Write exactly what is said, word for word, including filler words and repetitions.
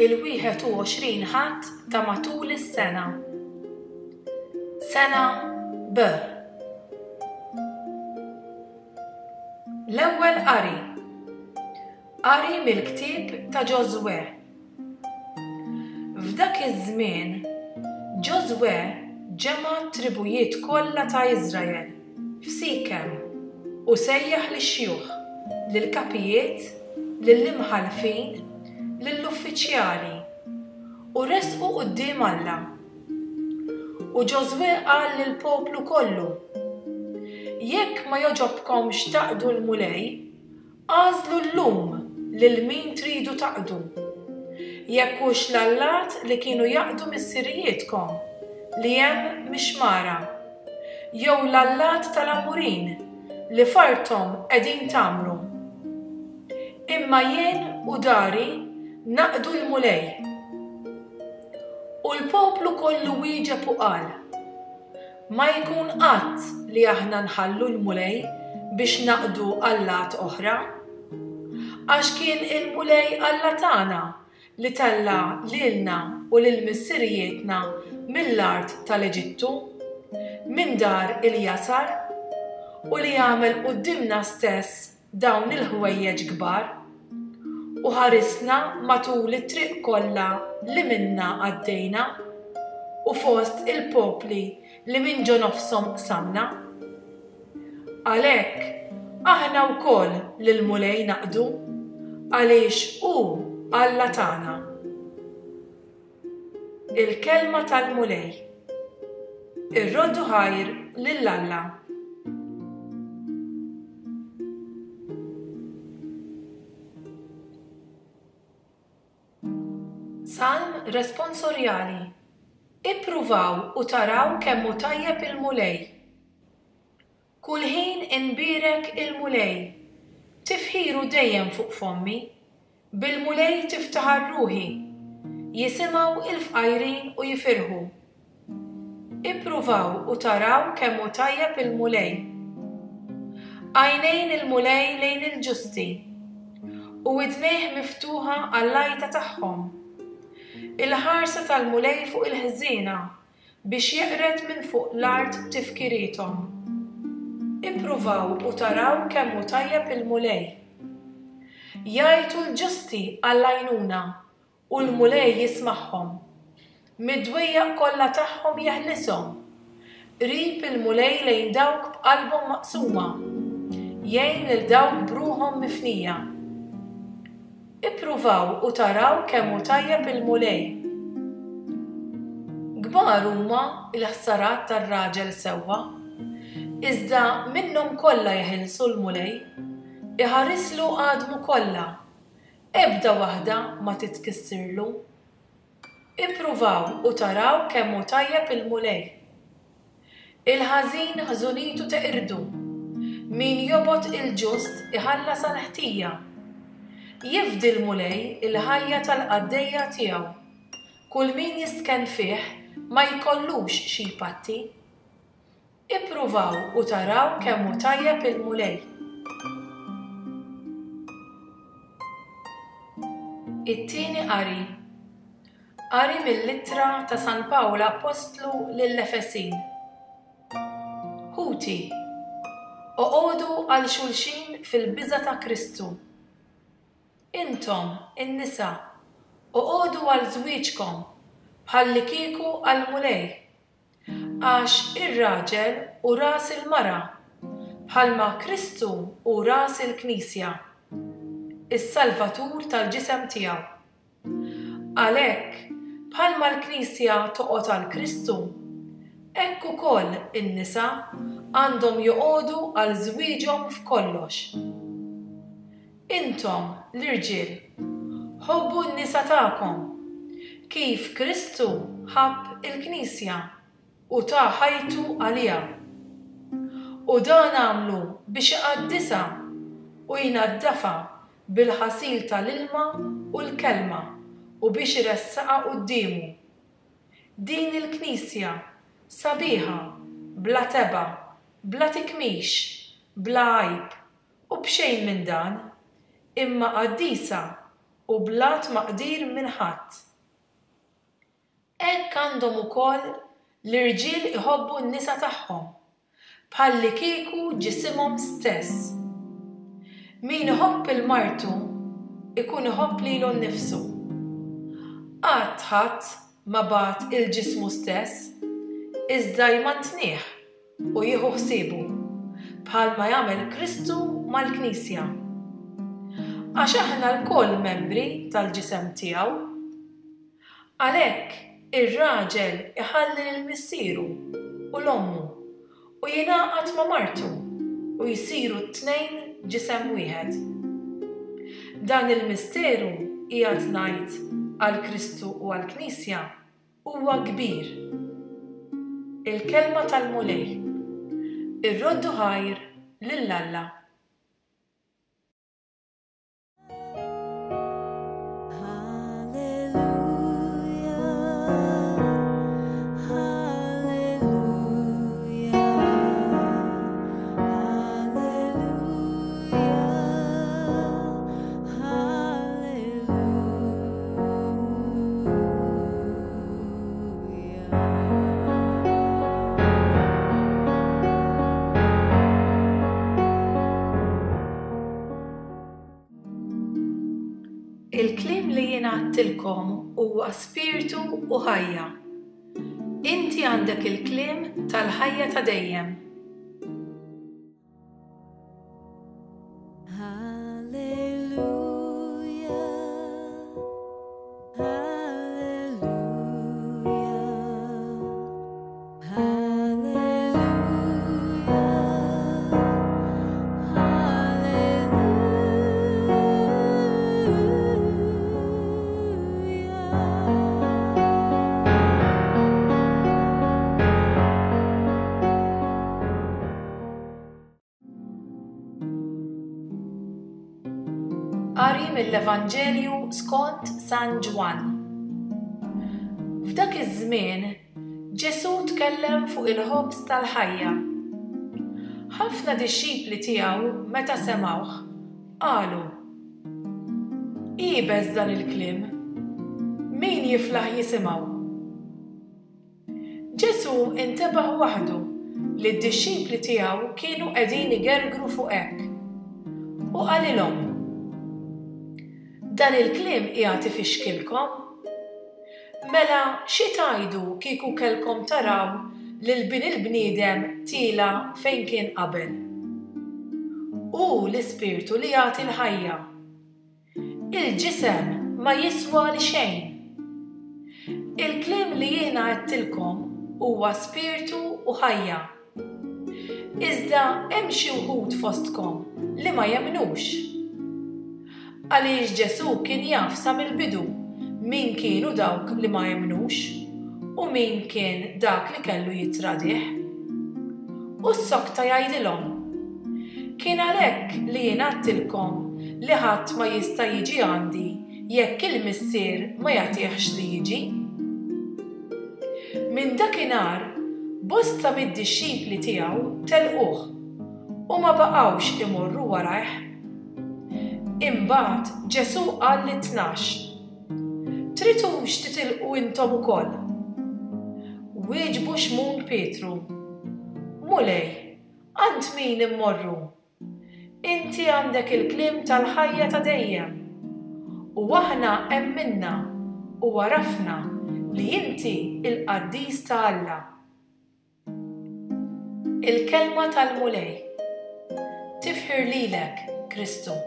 Il-wieħed u għoxrin Ħadd ta' matul is-sena. Sena B. L-ewwel qari. Qari mill-ktieb ta' Ġożwè. F'dak iż-żmien, Ġożwè ġema' t-tribujiet kollha ta' Iżrael f'Sikem u sejjaħ lix-xjuħ, lill-kapijiet, lill-imħallfin, lill-uffiċjali, u resqu quddiem Alla. U Ġożwè qal lill-poplu kollu, Jekk ma jogħġobkomx taqdu l-Mulej, agħżlu llum lil min tridu taqdu, jekk hux l-allat li kienu jaqdu missirijietkom li hemm mix-xmara, jew l-allat tal-Amurin li f'arthom qegħdin tgħammru. Imma jien u dari naqdu l-Mulej. U l-poplu kollu wieġeb u qal, Ma jkun qatt li aħna nħallu l-Mulej biex naqdu allat oħra. Għax kien il-Mulej Alla tagħna li tella' lilna u lil missirijietna mill-art tal-Eġittu, minn dar il-jasar, u li għamel quddiemna stess dawn il-ħwejjeġ kbar, u ħarisna matul it-triq kollha li minnha għaddejna, u fost il-popli li minn ġo nofshom qsamna. Għalhekk, aħna wkoll lill-Mulej naqdu, għaliex hu Alla tagħna. Il-kelma tal-Mulej. Irroddu ħajr lil Alla. Salm responsorjali. Ippruvaw u taraw kemm hu tajjeb il-Mulej. Kull ħin inbierek il-Mulej, tifħiru dejjem fuq fommi, bil-Mulej tiftaħar ruħi, jisimgħu il-fqajrin u jifirħu. Ippruvaw u taraw kemm hu tajjeb il-Mulej. Għajnejn il-Mulej lejn il-ġusti, u widnejh miftuħa għall-għajta tagħhom. Il-ħarsa tal-Mulej fuq il-ħżiena biex jeqred minn fuq l-art tifkiriethom. Ippruvaw u taraw kemm hu tajjeb il-Mulej. Jgħajtu l-ġusti għall-għajnuna u l-Mulej jismagħhom. Mid-dwejjaq kollha tagħhom jeħlishom. Qrib il-Mulej lejn dawk b'qalbhom maqsuma, jgħin lil dawk b'ruħhom mifnija. Ippruvaw u taraw kemm hu tajjeb il-Mulej. Kbar huma l-ħsarat tar-raġel sewwa, iżda minnhom kollha jeħilsu l-Mulej, iħarislu għadmu kollha, ebda waħda ma titkissirlu. Ippruvaw u taraw kemm hu tajjeb il-Mulej. Il-ħażin ħżunitu teqirdu, min jobgħod il-ġust iħallas għall-ħtija. Jifdi l-Mulej il-ħajja tal-qaddejja tiegħu, kull min jistkenn fih ma jkollux xi jpatti. Ippruvaw u taraw kemm hu tajjeb il-Mulej. It-tieni qari. Qari mill-ittra ta' San Pawl Appostlu lill-Efesin. Ħuti, oqogħdu għal xulxin fil-biża' ta' Kristu. Intom, in-nisa, oqogħdu għal żwieġkom bħallikieku għall-Mulej. Għax ir-raġel hu ras il-mara, bħalma Kristu hu ras il-Knisja, is-Salvatur tal-ġisem tiegħu. Għalhekk, bħalma l-Knisja toqgħod għal Kristu, hekk ukoll in-nisa għandhom joqogħdu għal żwieġhom f'kollox. Intom, l-irġiel, ħobbu n-nisa tagħkom, kif Kristu ħabb il-Knisja u ta ħajtu għaliha. U dan għamlu biex iqaddisha u jnaddafha bil-ħasil tal-ilma u l-kelma u biex iressaqha quddiemu. Din il-Knisja sabiħa, bla tebgħa, bla tikmix, bla għajb u b'xejn minn dan, imma qaddisa u bla tmaqdir minn ħadd. Hekk għandhom ukoll l-irġiel iħobbu n-nisa tagħhom, bħallikieku ġisimhom stess. Min iħobb lil martu ikun iħobb lilu nnifsu. Qatt ħadd ma bagħad lil ġismu stess, iżda jmantnih u jieħu ħsiebu, bħalma jagħmel Kristu mal-Knisja. Għax aħna lkoll membri tal-ġisem tiegħu. Għalhekk ir-raġel iħalli lil missieru u 'l ommu u jingħaqad ma' martu u jsiru t-tnejn ġisem wieħed. Dan il-misteru qiegħed ngħid għal Kristu u għall-Knisja huwa kbir. Il-kelma tal-Mulej. Irroddu ħajr lil Alla. Il-kliem li jiena għedtilkom huwa spiritu u ħajja. Inti għandek il-kliem tal-ħajja ta' dejjem. Qari mill-Evanġelju skont San Ġwann. F'dak iż-żmien Ġesù tkellem fuq il-ħobż tal-ħajja. Ħafna dixxipli tiegħu meta semgħuh qalu: Iebes dan il-kliem, min jiflaħ jisimgħu? Ġesù intebaħ waħdu li d-dixxipli tiegħu kienu qegħdin igergru fuq hekk u qalilhom: Dan il-kliem qiegħed ifixkilkom? Mela xi tgħidu kieku kellkom taraw lil bin il-bniedem tiela' fejn kien qabel? Hu l-ispirtu li jagħti l-ħajja. Il-ġisem ma jiswa li xejn. Il-kliem li jiena għedtilkom huwa spirtu u ħajja. Iżda hemm xi wħud fostkom li ma jemmnux. Għaliex Ġesù kien jaf sa mill-bidu min kienu dawk li ma jemmnux u min kien dak li kellu jittradih. U s-sokta jgħidilhom: Kien għalhekk li jien għedtilkom li ħadd ma jista' jiġi għandi jekk il-Missier ma jagħtihx li jiġi. Minn dakinhar bosta mid-dixxipli tiegħu telquh u ma baqgħux imorru warajh. Imbagħad Ġesù qal lit-tnax: Tridux titilqu intom ukoll? Wieġbu Xmun Pietru: Mulej, għand min immorru? Inti għandek il-kliem tal-ħajja ta' dejjem. U aħna emminna u għarafna li inti il-Qaddis ta' Alla. Il-kelma tal-Mulej. Tifħir lilek, Kristu.